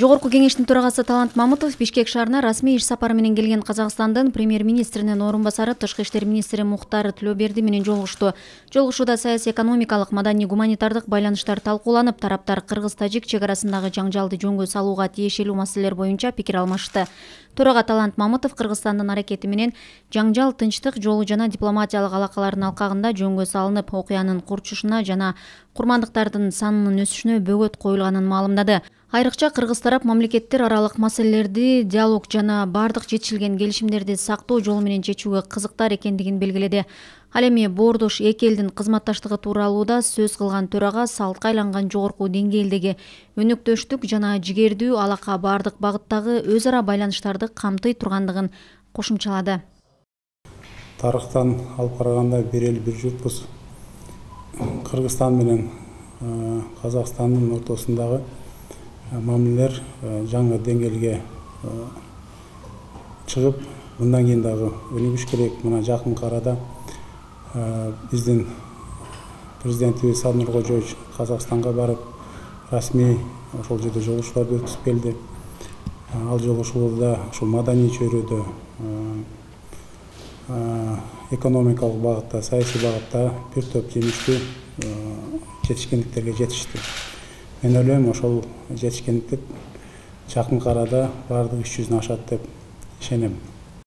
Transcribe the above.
Жогорку кеңештин төрагасы Талант Мамытов Бишкек шаарына расмий иш сапары менен келген Казакстандын премьер-министринин орун басары Тышкы иштер министри Мухтар Тилөберди менен жолугушту. Жолугушууда саясий, экономикалык, маданий, гуманитардык байланыштар талкууланып, тараптар кыргыз-тажик чек арасындагы жаңжалды жөнгө салууга тиешелүү маселелер боюнча пикир алмашты. Төрага Талант Мамытов Кыргызстандын аракети менен жаңжал тынчтык жолу жана дипломатиялык алакалардын алкагында жөнгө салынып, окуянын курчушуна жана курмандыктардын санынын өсүшүнө бөгөт коюлганын маалымдады. Айрыкча кыргыз тарап мамлекеттер аралык маселелерди диалог жана бардык жетишилген келишимдерди сактоо жолу менен чечүүгө кызыктар экендигин белгиледи. Ал эми боордош эки элдин кызматташтыгы тууралуу да сөз кылган төрага салтка айланган жогорку деңгээлдеги өнөктөштүк жана жигердүү алака бардык багыттагы өз ара байланыштарды камтый тургандыгын кошумчалады. Тарыхтан алып караганда бир эл бир журтпуз. Кыргызстан менен Казакстандын ортосундагы мамилелер жаңы деңгээлге чыгып, мындан кийин дагы өнүгүш керек. Мына жакын арада биздин президентибиз Садыр Нуркожоевич Казакстанга барып, расмий ошол жерде жолугушууларды өткүзүп келди. Ал жолугушууларда ушул маданий чөйрөдө, экономикалык багытта, саясий багытта бир топ жемиштүү жетишкендиктерге жетишти. Мен ойлойм, ошол жетишкендиктер жакын арада бардык иш жүзүнө ашат деп ишенем.